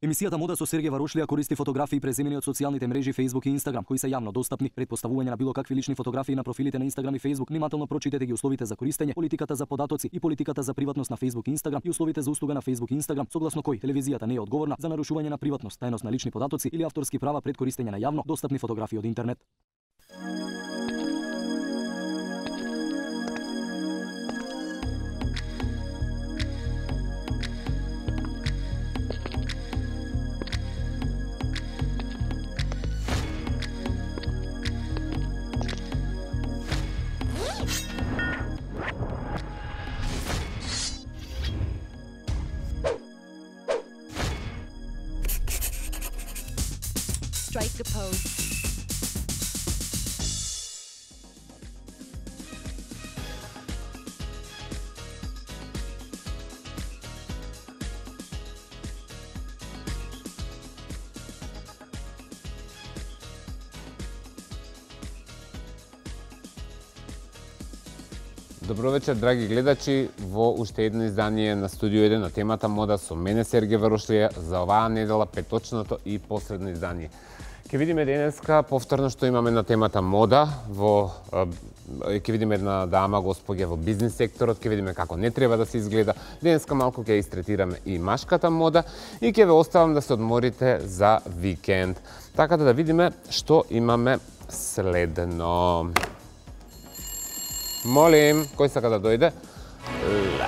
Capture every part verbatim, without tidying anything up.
Емисијата Мода со Сергеј Варошлија користи фотографии преземени од социјалните мрежи Facebook и Instagram, кои се јавно достапни. Пред поставување на било какви лични фотографии на профилите на Instagram и Facebook, внимателно прочитете ги условите за користење, политиката за податоци и политиката за приватност на Facebook и Instagram и условите за услуга на Facebook и Instagram, согласно кои телевизијата не е одговорна за нарушување на приватност, тајност на лични податоци или авторски права пред користење на јавно достапни фотографии од интернет. Strike a pose. Добро вечер, драги гледачи, во уште едно издание на Студио еден на темата Мода со мене Сергеј Варошлија за оваа недела петочното и последно издание. Ке видиме денеска повторно што имаме на темата Мода, во ќе видиме една дама, госпоѓа во бизнис секторот, ќе видиме како не треба да се изгледа. Денеска малку ќе истретираме и машката мода и ќе ве оставам да се одморите за викенд. Така да видиме што имаме следно. Молим, кој сака да дојде? Ла.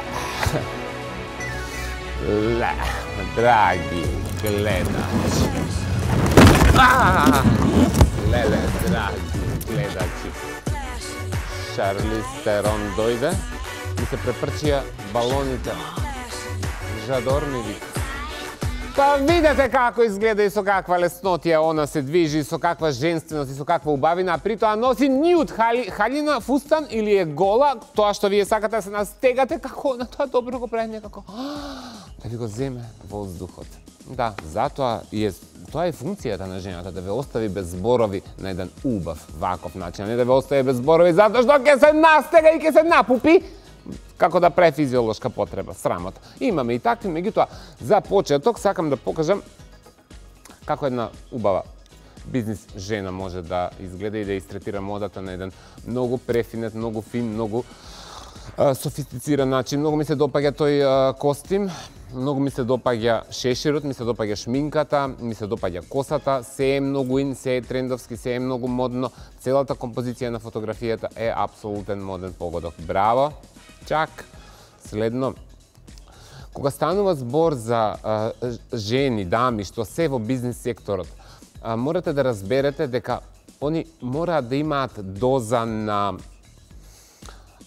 Ла. Драги гледачи. Леле, драги гледачи. Шарли Стерон дојде и се препрчија балоните. Жадор ми вика. Па видете како изгледа и со каква леснотија она се движи, со каква женственост и со каква убавина, а при тоа носи нјуд хали, халина, фустан или е гола, тоа што вие сакате да се настегате, како на тоа добро го прави некако, да ви го земе воздухот. Да, затоа и е, тоа е функцијата на жената, да ве остави без зборови на еден убав, ваков начин, а не да ве остави без зборови затоа што ќе се настега и ќе се напупи, како да прави физиолошка потреба, срамота. Имаме и такви, меѓутоа, за почеток сакам да покажам како една убава бизнис жена може да изгледа и да истретира модата на еден многу префинет, многу фин, многу а, софистициран начин. Многу ми се допаѓа тој а, костим, многу ми се допаѓа шеширот, ми се допаѓа шминката, ми се допаѓа косата, се е многу ин, се е трендовски, се е многу модно. Целата композиција на фотографијата е апсолутен моден погодок. Браво! Чак, следно, кога станува збор за а, жени, дами, што се во бизнес секторот, а, морате да разберете дека они мораат да имаат доза на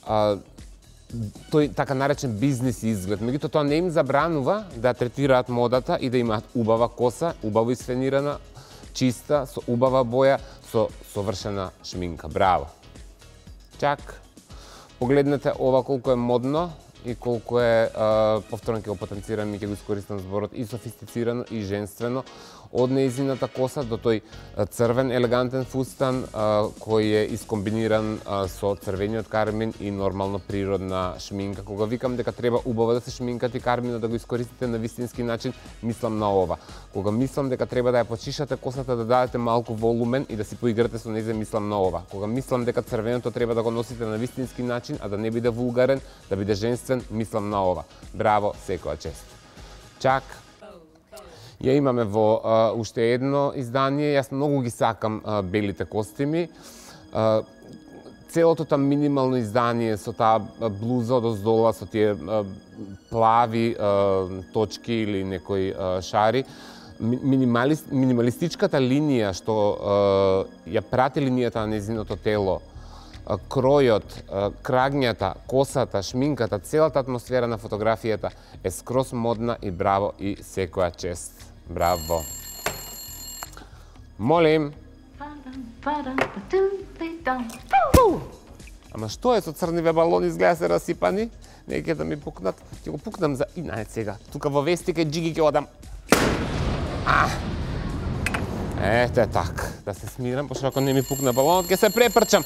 а, тој така наречен бизнес изглед. Меѓутоа тоа не им забранува да третираат модата и да имаат убава коса, убаво исфенирана, чиста, со убава боја, со совршена шминка. Браво! Чак! Погледнете ова колку е модно и колку е, а, повторно ќе го потенцирам и ќе го искористам зборот, и софистицирано и женствено, од неизината коса до тој црвен елегантен фустан а, кој е искомбиниран а, со црвениот кармин и нормално природна шминка. Кога викам дека треба убаво да се шминкате и карминот да го искористите на вистински начин, мислам на ова. Кога мислам дека треба да ја почишате косата, да дадете малку волумен и да си поиграте со нејзе, мислам на ова. Кога мислам дека црвеното треба да го носите на вистински начин, а да не биде вулгарен, да биде женствен, мислам на ова. Браво, секоја чест. Чак. Ја имаме во а, уште едно издание, јас многу ги сакам а, белите костими. А, целото та минимално издание со таа блуза од оздола, со тие а, плави а, точки или некои а, шари, минималист, минималистичката линија што а, ја прати линијата на незиното тело, а, кројот, а, крагњата, косата, шминката, целата атмосфера на фотографијата е скроз модна и браво и секоја чест. Браво. Молим. Ама што е со црниве балони, изгледа се расипани? Не ќе да ми пукнат. Ќе го пукнам за инае сега. Тука во вестика джиги ќе одам. А! Ете так. Да се смирам, пошто ако не ми пукне балонот, ќе се препрчам.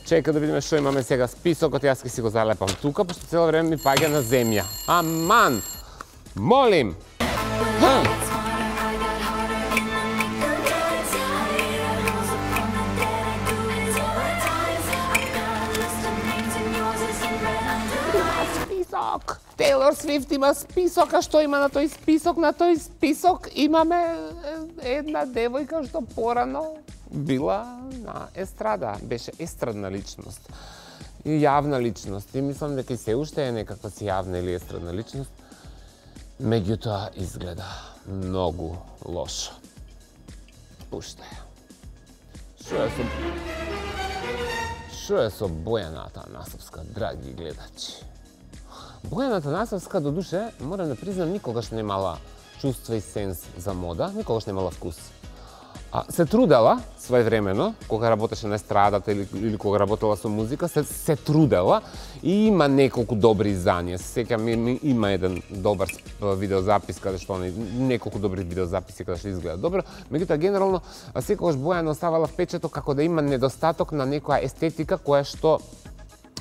Чека да видиме што имаме сега. Списокот, јас ќе си го залепам тука, пошто цело време ми паѓа на земја. Аман! Молим! Taylor Swift има список, а што има на тој список? На тој список имаме една девојка што порано била на естрада, беше естрадна личност. И јавна личност. И мислам дека и се уште е некаква си јавна или естрадна личност. Меѓутоа изгледа многу лошо. Пушта ја. Шо е со... Шо е со Бојана Атанасовска, драги гледачи? Бојана Атанасовска, до душе, морам да признам, никогаш немала чувство и сенс за мода, никогаш немала вкус. А, се трудела своевремено, кога работеше на естрадата или, или кога работела со музика, се, се трудела и има неколку добри изданија. Се сеќам, има еден добар видеозапис каде што не, неколку добри видеозаписи каде што изгледа добро, меѓутоа генерално секогаш Бојана оставала впечаток како да има недостаток на некоја естетика која што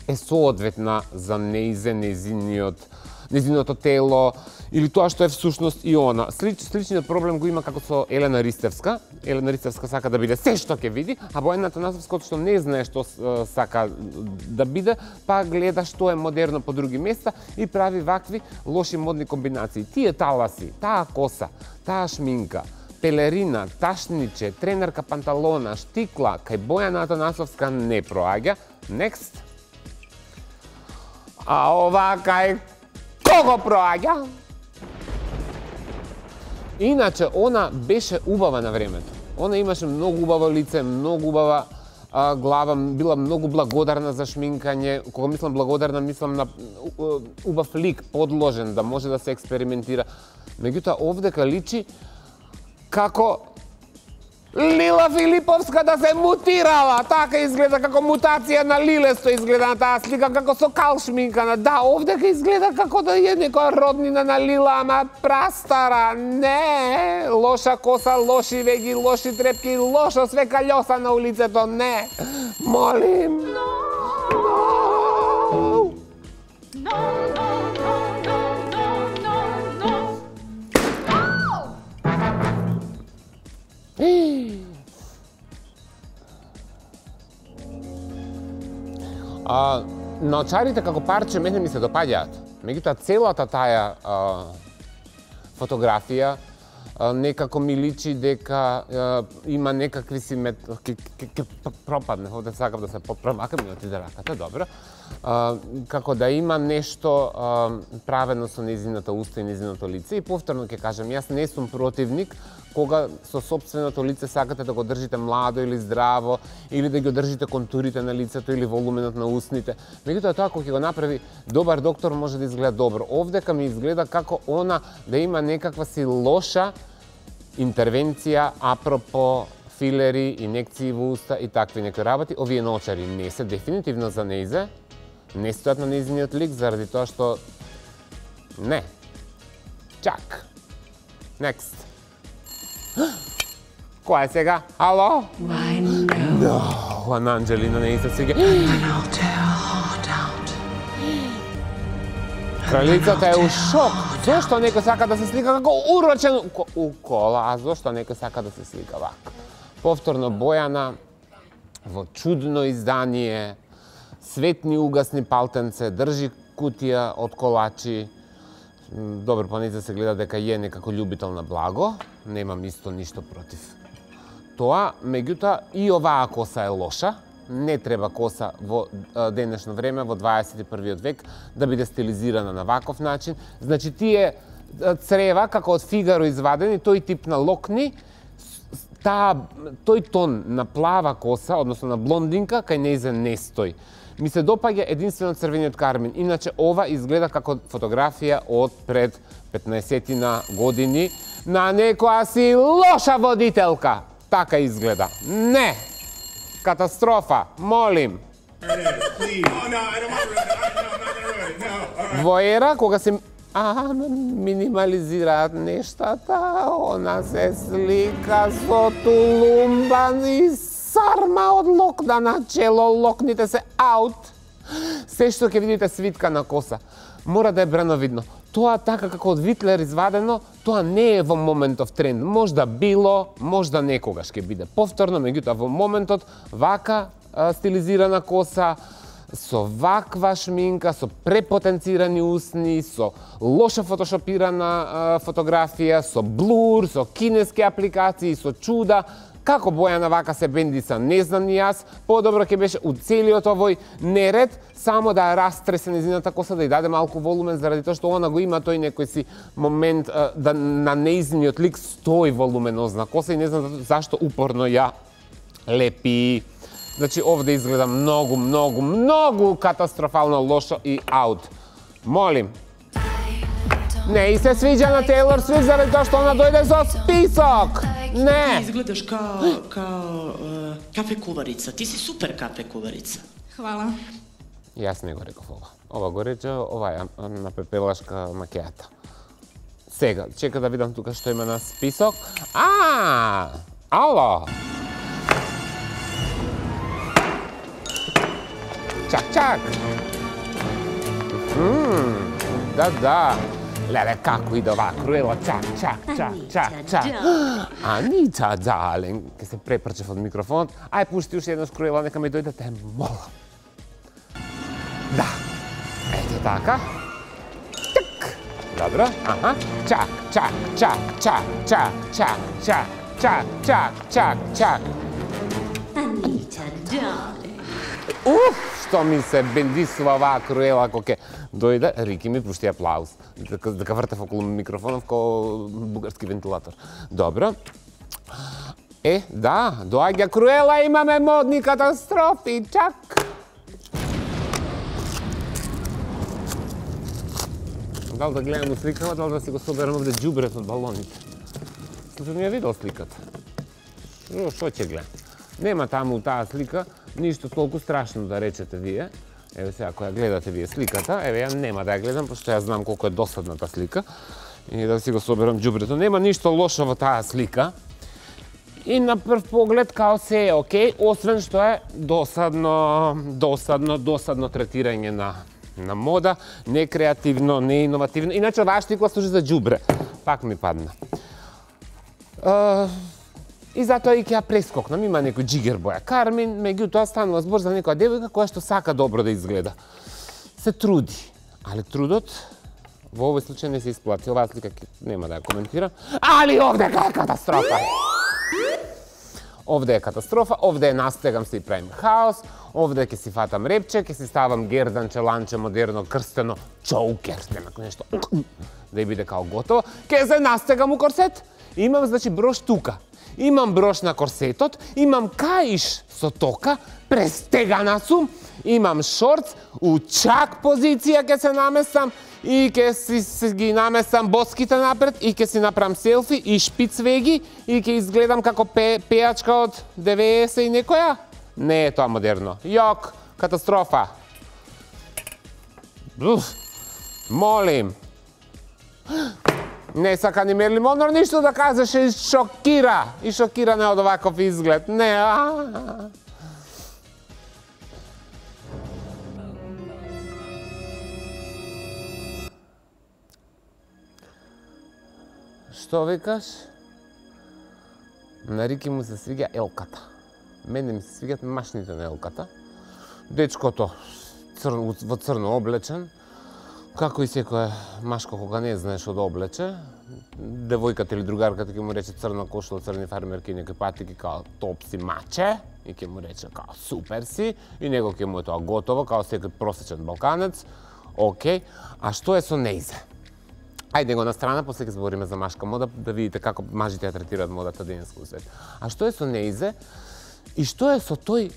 е соодветна за неизе, незиниот, незиното тело, или тоа што е всушност и она. Слич, сличниот проблем го има како со Елена Ристевска. Елена Ристевска сака да биде се што ќе види, а Бојана Атанасовска што не знае што сака да биде, па гледа што е модерно по други места и прави вакви лоши модни комбинации. Тие таласи, таа коса, таа шминка, пелерина, ташниче, тренерка панталона, штикла, кај Бојана Атанасовска не проаѓа. Next. А ова кај кого проаѓа? Иначе, она беше убава на времето. Она имаше многу убаво лице, многу убава а, глава, била многу благодарна за шминкање. Кога мислам благодарна, мислам на убав лик, подложен, да може да се експериментира. Меѓутоа, овдека личи како Лила Филиповска да се мутирала. Така изгледа, како мутација на Лилесто изгледа на таа слика, како со кал шминкана. Да, овдека изгледа како да е некоја роднина на Лила, ама прастара. Не, лоша коса, лоши веги, лоши трепки, лошо све каљоса на улицето. Не, молим. А, наочарите како парче мене ми се допаѓаат. Меѓутоа целата таа а, фотографија а, некако ми личи дека а, има некакви си мет... Ке, ке, ке пропадне, овде сакам да се поправам, ака ми отиде раката, добро. А, како да има нешто а, правено со незината уста и незиното лице. И повторно ќе кажам, јас не сум противник кога со сопственото лице сакате да го држите младо или здраво, или да ги држите контурите на лицето или волуменот на устните. Меѓутоа тоа кога ќе го направи добар доктор може да изгледа добро. Овдека ми изгледа како она да има некаква си лоша интервенција апропо филери, инекции во уста и такви некои работи. Овие наочари не се дефинитивно за неизе, не стојат на неизниот лик заради тоа што не. Чак. Next. Која е сега? Ало? No, Ана Анджелина не иде сега. Кралицата е у шок. Зошто некој сака да се слика како урочен у кола, а зошто некој сака да се слика вака? Повторно Бојана во чудно издание, светни угасни палтенце, држи кутија од колачи. Добро, па не се гледа дека е некако љубител на благо, немам исто ништо против тоа, меѓутоа и оваа коса е лоша, не треба коса во денешно време, во дваесет и првиот век, да биде стилизирана на ваков начин. Значи, тие црева, како од Фигаро извадени, тој тип на локни, таа, тој тон на плава коса, односно на блондинка, кај нејзе не стои. Ми се допаѓа единствено црвениот кармин, иначе ова изгледа како фотографија од пред петнаесетина години на некоја си лоша водителка. Така изгледа. Не! Катастрофа, молим. Во ера, кога се а, минимализираат нештата, она се слика со тулумбан и сарма од локна на чело, локните се аут. Се што ќе видите свитка на коса, мора да е брановидно. Тоа така како од Витлер извадено, тоа не е во моментов тренд. Можда било, можда некогаш ќе биде повторно, меѓутоа во моментот вака а, стилизирана коса, со ваква шминка, со препотенцирани усни, со лошо фотошопирана фотографија, со блур, со кинески апликации, со чуда. Како Бојана вака се бендиса, не знам ни јас. Подобро ќе беше у целиот овој неред само да растресе незината коса, да ја даде малку волумен, заради тоа што она го има тој некој си момент да на неизниот лик стои волуменозна коса и не знам зашто упорно ја лепи. Значи, овде изгледа многу, многу, многу катастрофално лошо и аут. Молим. Не и се свиѓа на Тейлор Свифт заради тоа што она дојде со список. Не. Ти изгледаш као, као uh, кафе куварица. Ти си супер кафе куварица. Хвала. Јас не го реков ова. Ова го рече ова на пепелашка макејата. Сега, чека да видам тука што има на список. А, ало. Чак, чак. Мм, да, да. Леле, како иде ова Круела, чак, чак, чак, чак, чак. Анита, дален, ке се препрчев од микрофонот. Ај, пушти уште еднаш Круела, нека ми дојде, те молам. Да, ето така. Чак, добро, аха, чак, чак, чак, чак, чак, чак, чак, чак, чак, чак, чак. Анита, дален. Уф, што ми се бендисува оваа Круела, ако ке дојде, Рики ми пушти аплауз. Дека, дека вртев околу микрофонов ко бугарски вентилатор. Добро. Е, да, доаѓа Круела, имаме модни катастрофи, чак. Дал да гледам сликава, дал да си го соберам овде џубрет од балоните. Слушам, ја видел сликата. Шо ќе гледам? Нема таму таа слика ништо толку страшно да речете вие. Еве сега, која гледате вие сликата, еве ја нема да ја гледам, пошто ја знам колку е досадната слика. И да си го соберам џубрето. Нема ништо лошо во таа слика. И на прв поглед као се е окей, освен што е досадно, досадно, досадно третирање на на мода, не креативно, не иновативно. Иначе оваа штикла служи за џубре. Пак ми падна. Uh, И затоа и ќе ја прескокнам, има некој джигер боја кармин, меѓутоа станува збор за некоја девојка која што сака добро да изгледа. Се труди, али трудот во овој случај не се исплати. Оваа слика нема да ја коментирам, али овде е катастрофа. Овде е катастрофа, овде е настегам се и правим хаос, овде ќе си фатам репче, ќе си ставам герданче, ланче, модерно, крстено, чоукер, нема нешто, да ја биде као готово, ќе се настегам у корсет. Имам, значи, брош тука. Имам брош на корсетот, имам каиш со тока, престегана сум, имам шорц, у чак позиција ќе се наместам и ќе си, си ги наместам боските напред и ќе си направам селфи и шпиц веги и ќе изгледам како пе, пејачка од деветдесет и некоја. Не е тоа модерно. Јок, катастрофа. Уф, молим. Не сака ни Мерлин Монро ништо да кажеше и шокира. И шокира не од оваков изглед. Не, а. Што викаш? На Рики му се свиѓа елката. Мене ми се свиѓат машните на елката. Дечкото цр... во црно облечен. Како и секоја машко кога не знае што да облече, девојката или другарката ќе му рече црна кошула, црни фармерки, некои патики као топ си маче, и ќе му рече као супер си, и него ќе му е тоа готово, као секој просечен балканец, окей. А што е со нејзе? Ајде го на страна, после ќе збориме за машка мода, да видите како мажите ја третираат модата денеска во свет. А што е со нејзе? И што е со тој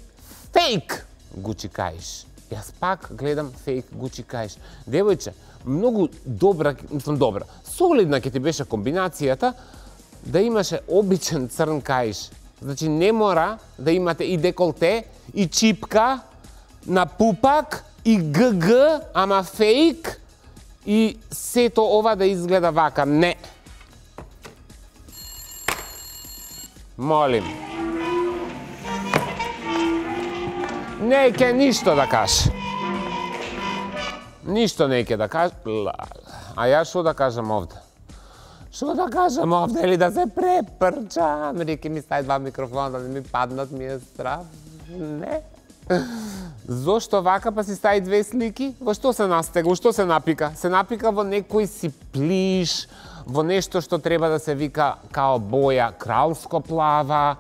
фейк Гучи каиш? Јас пак гледам фейк Гучи каиш. Девојче, многу добра, мислам добра, солидна ќе ти беше комбинацијата да имаше обичен црн каиш. Значи не мора да имате и деколте, и чипка, на пупак, и ГГ, ама фейк, и сето ова да изгледа вака. Не. Молим. Не ќе ништо да каже. Ништо не ќе да каже. А јас што да кажам овде? Што да кажам овде или да се препрчам? Рики ми стај два микрофона да не ми паднат, ми е страв. Не. Зошто вака па си стави две слики? Во што се настега? Во што се напика? Се напика во некој си плиш, во нешто што треба да се вика као боја кралско плава.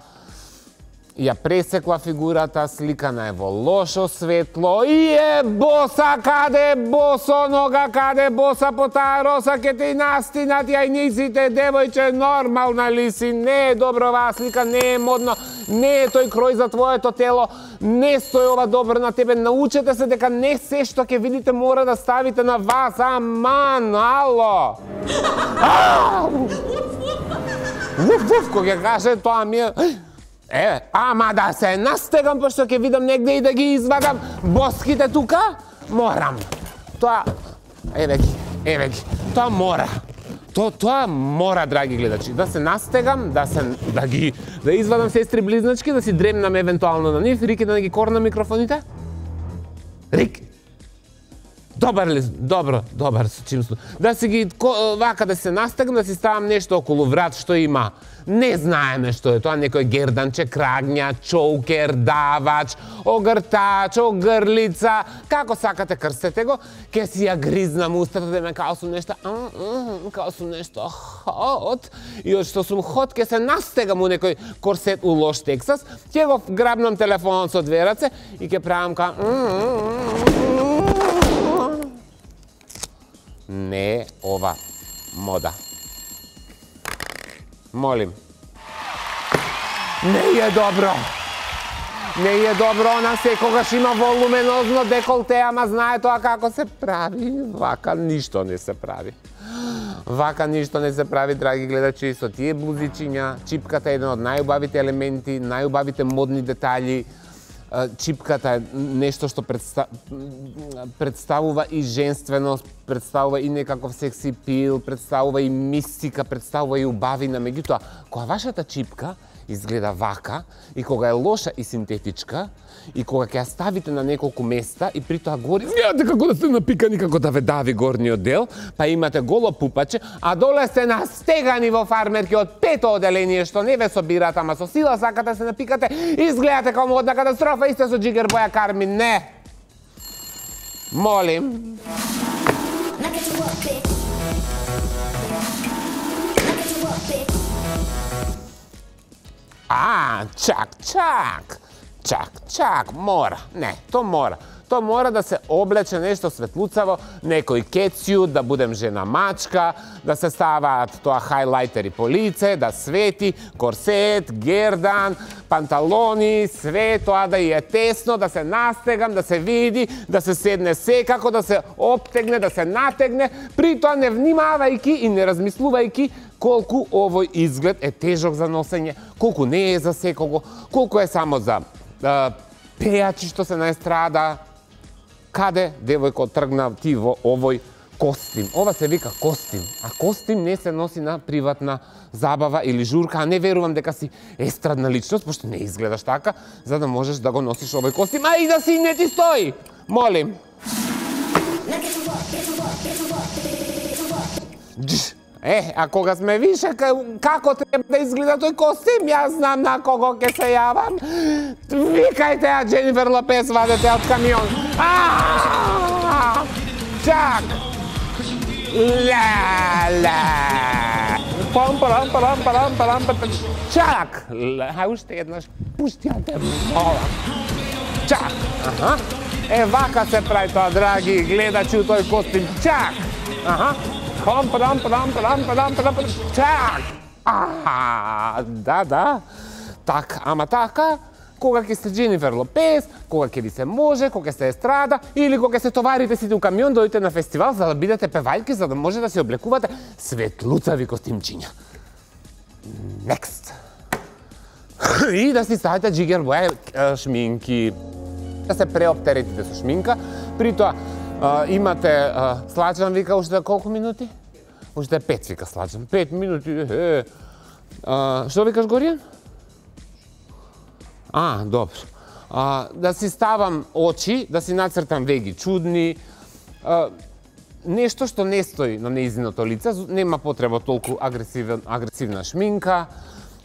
Ја пресекла фигурата, сликана е во лошо светло и е боса, каде е босо нога, каде е боса по таа роса, ке те и настинат јајниците, девојче, нормална ли си, не е добро оваа слика, не е модно, не е тој крој за твоето тело, не стои ова добро на тебе, научете се дека не се што ќе видите мора да ставите на вас, аман, ало! Вуф, вуф, кога ќе каже, тоа ми е... Е, ама да се настегам, пошто ќе видам негде и да ги извадам боските тука, морам. Тоа, еве ги, еве ги, тоа мора. То, тоа мора, драги гледачи, да се настегам, да се, да ги, да извадам сестри близначки, да си дремнам евентуално на нив, Рики да не ги корна микрофоните. Рик, добар ли, добро, добар со чимство. Да си ги, вака да се настегам, да си ставам нешто околу врат што има. Не знаеме што е тоа, некој герданче, крагња, чоукер, давач, огртач, огрлица, како сакате крстете го, ке си ја гризнам устата да ме као сум нешто, као сум нешто хот, и од што сум хот, ке се настегам у некој корсет у лош Тексас, ке го грабнам телефонот со две раце и ке правам ка... Не ова мода. Молим. Не е добро. Не е добро, она секогаш има волуменозно деколте, ама знае тоа како се прави. Вака ништо не се прави. Вака ништо не се прави, драги гледачи, со тие блузичиња. Чипката е еден од најубавите елементи, најубавите модни детали. Чипката е нешто што предста... представува и женственост, представува и некаков секси пил, представува и мистика, представува и убавина. Меѓутоа, кога вашата чипка изгледа вака, и кога е лоша и синтетичка, и кога ќе ја ставите на неколку места, и при тоа гори, знаете како да сте напикани, како да ве дави горниот дел, па имате голо пупаче, а доле сте настегани во фармерки од пето оделение, што не ве собират, ама со сила сакате да се напикате, изгледате како модна катастрофа, и сте со Джигер Боја Кармин, не! Молим. А, чак, чак, чак, чак, мора, не, то мора. То мора да се облече нешто светлуцаво, некој кецјут, да будем жена мачка, да се ставаат тоа хайлайтери по лице, да свети, корсет, гердан, панталони, све тоа да е тесно, да се настегам, да се види, да се седне секако, да се обтегне, да се натегне, при тоа не внимавајки и не размислувајки колку овој изглед е тежок за носење, колку не е за секого, колку е само за а, пејачи што се на естрада. Каде, девојко, тргна ти во овој костим? Ова се вика костим, а костим не се носи на приватна забава или журка, а не верувам дека си естрадна личност, пошто не изгледаш така, за да можеш да го носиш овој костим, а и да си не ти стои! Молим! Е, а кога сме више, како треба да изгледа тој костим, јас знам на кого ќе се јавам. Викајте ја Дженифер Лопес, вадете од камион. Чак! Ла-ла! Пам, парам, парам, парам, парам, парам, чак! Хај уште еднаш, пушти ја те молам. Чак! Аха. Е, вака се прави тоа, драги гледачи, тој костим. Чак! Аха. Пам, парам, парам, парам, парам, парам, парам, чак! А, да, да. Так, ама така, кога ќе сте Дженифер Лопес, кога ќе ви се може, кога ќе сте естрада, или кога се товарите сите у камион, дојдете на фестивал за да бидете певајки, за да може да се облекувате светлуцави костимчиња. Next. И да си ставите Джигер Боја шминки. Да се преоптеретите со шминка, при тоа Uh, имате, uh, Сладжан вика, уште колку минути? Уште пет вика Сладжан, пет минути, е, е. Uh, што викаш, Горијан? А, добро. Uh, да си ставам очи, да си нацртам веги чудни, uh, нешто што не стои на нејзиното лице, нема потреба толку агресивна шминка,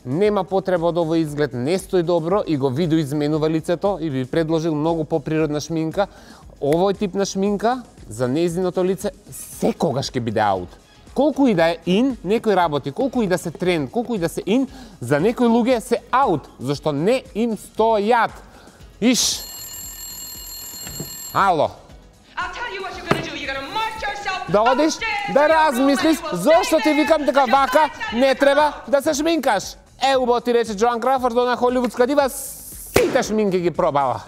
нема потреба од овој изглед, не стои добро и го видоизменува лицето и би предложил многу поприродна шминка. Овој тип на шминка за нејзиното лице секогаш ќе биде аут. Колку и да е ин, некои работи, колку и да се тренд, колку и да се ин, за некои луѓе се аут, зашто не им стојат. Иш. Ало. Да одиш, да размислиш, зошто ти викам дека вака не треба да се шминкаш. Е, убаво ти рече Джоан Кроуфорд, она холивудска дива, сите шминки ги пробала.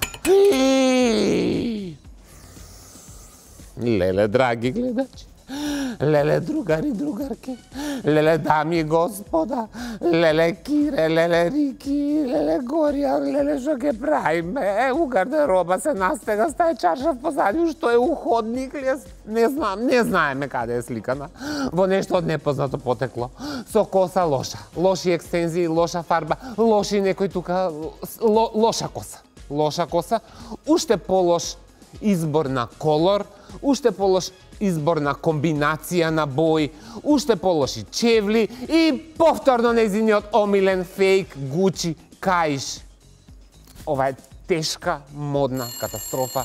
Леле, драги гледачи, леле, другари, другарки, леле, дами и господа, леле, Кире, леле, Рики, леле, Горија, леле, што ке правиме? Е, у гардероба се настега, стај чаршав позади, што е уходник, не знам, не знаеме каде е сликана. Во нешто од непознато потекло. Со коса лоша, лоши екстензии, лоша фарба, лоши некој тука, ло, лоша коса. Лоша коса, уште полош избор на колор, уште полош избор на комбинација на бои, уште полоши чевли и повторно нејзиниот омилен фейк Гучи каиш. Ова е тешка модна катастрофа.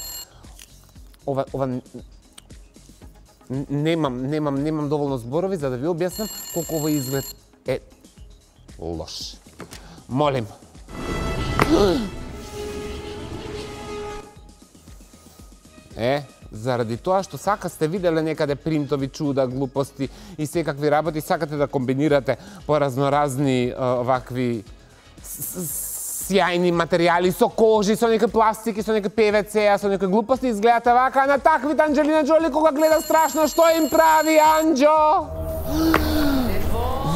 Ова, ова немам, немам, немам доволно зборови за да ви објаснам колку овој изглед е лош. Молим. Е, заради тоа што сака сте виделе некаде принтови чуда, глупости и секакви работи, сакате да комбинирате по разноразни овакви сјајни материјали со кожи, со некои пластики, со некои пе ве це, со некои глупости, изгледате вака, на таквите Анџелина Џоли кога гледа страшно, што им прави Анџо?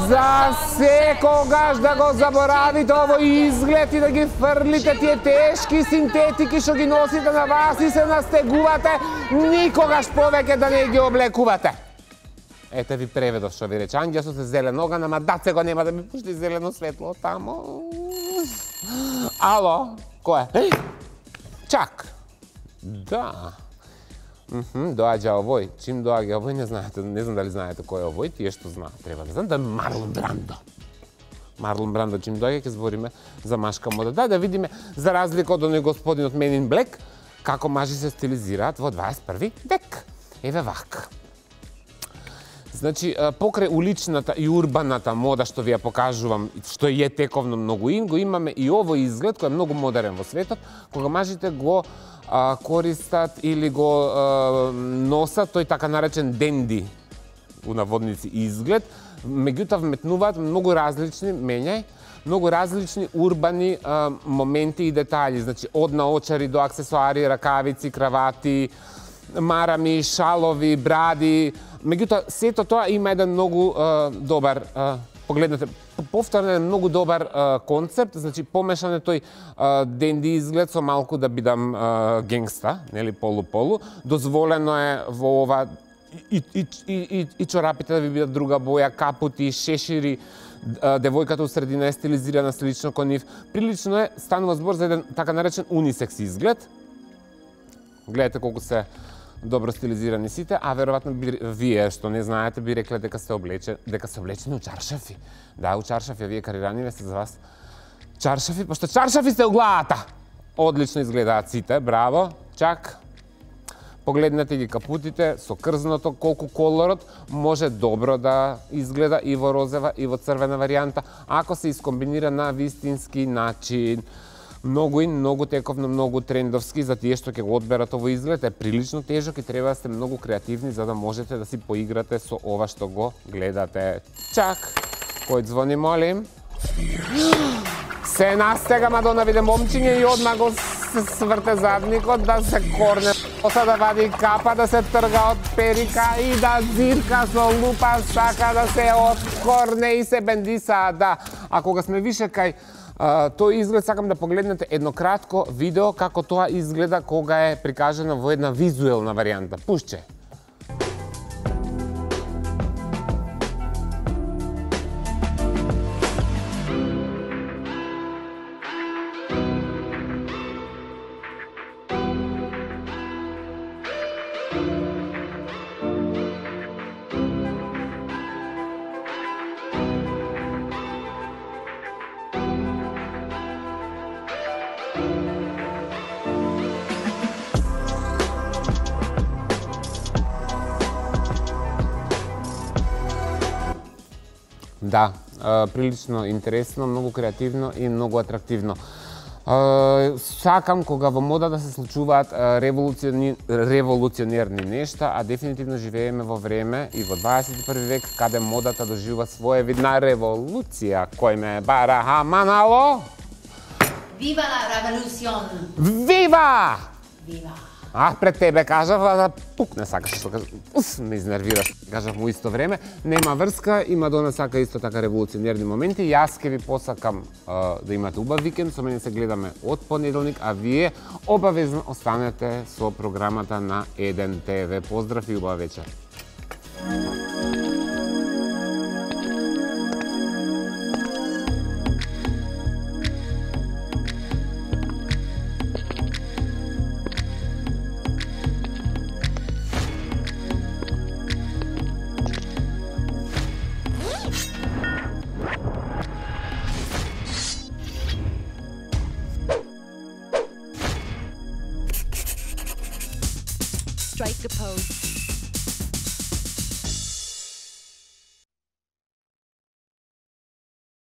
За секогаш да го заборавите овој изглед и да ги фрлите тие тешки синтетики што ги носите на вас и се настегувате, никогаш повеќе да не ги облекувате. Ете ви преведов што ви рече Анѓа со се зелен оган, ама даце го нема да ми пушти зелено светло тамо. Ало, кој е? Чак. Да. Мхм, доаѓа овој. Чим доаѓа овој, не знаете, не знам дали знаете кој е овој, тие што знаат, треба да знам, да е Марлон Брандо. Марлон Брандо чим доаѓа, ќе збориме за машка мода. Да, да видиме, за разлика од оној господинот Men in Black, како мажи се стилизираат во дваесет и први век. Еве вака. Значи, покрај уличната и урбаната мода што ви ја покажувам, што е тековно многу ин, го имаме и овој изглед кој е многу модерен во светот, кога мажите го а, користат или го а, носат тој така наречен денди, у наводници, изглед, меѓутоа вметнуваат многу различни, менјај, многу различни урбани а, моменти и детали, значи од наочари до аксесуари, ракавици, кравати, марами, шалови, бради. Меѓутоа, сето тоа има еден многу а, добар, а, погледнете, повторно е многу добар а, концепт, значи помешан е тој а, денди изглед со малку да бидам а, генгста, нели, полу-полу. Дозволено е во ова и, и, и, и, и чорапите да ви бидат друга боја, капути, шешири, а, девојката у средина е стилизирана слично кон нив. Прилично е, станува збор за еден така наречен унисекс изглед. Гледате колку се добро стилизирани сите, а веројатно вие што не знаете би рекле дека се облече, дека се облечени у чаршафи. Да, у чаршафи, вие карираниме се за вас чаршафи, пошто чаршафи сте у главата. Одлично изгледаат сите, браво. Чак. Погледнете ги капутите со крзното, колку колорот може добро да изгледа и во розева и во црвена варијанта, ако се искомбинира на вистински начин. Многу и многу тековно, многу трендовски, за тие што ќе го одберат овој изглед, е прилично тежок и треба да сте многу креативни за да можете да си поиграте со ова што го гледате. Чак! Кој звони, молим? Се настега Мадона виде момчиње и одма го се сврте задникот, да се корне, оса да вади капа, да се трга од перика и да зирка со лупа, сака да се откорне и се бендиса, да. А кога сме више кај Uh, тој изглед, сакам да погледнете едно кратко видео како тоа изгледа кога е прикажено во една визуелна варијанта. Пушче! Да, прилично интересно, многу креативно и многу атрактивно. Сакам кога во мода да се случуваат револуциони... револуционерни нешта, а дефинитивно живееме во време и во дваесет и први век каде модата доживува своевидна револуција. Кој ме бара хаманало? Viva la revolucion! Вива! Viva! А, пред тебе кажав, а да пукне сакаш, што кажав, ус, ме изнервираш, кажав му исто време, нема врска, има до нас сака исто така револуционерни моменти, јас ке ви посакам а, да имате убав викенд, со мене се гледаме од понеделник, а вие обавезно останете со програмата на еден те ве. Поздрав и убава вечер. Strike a pose.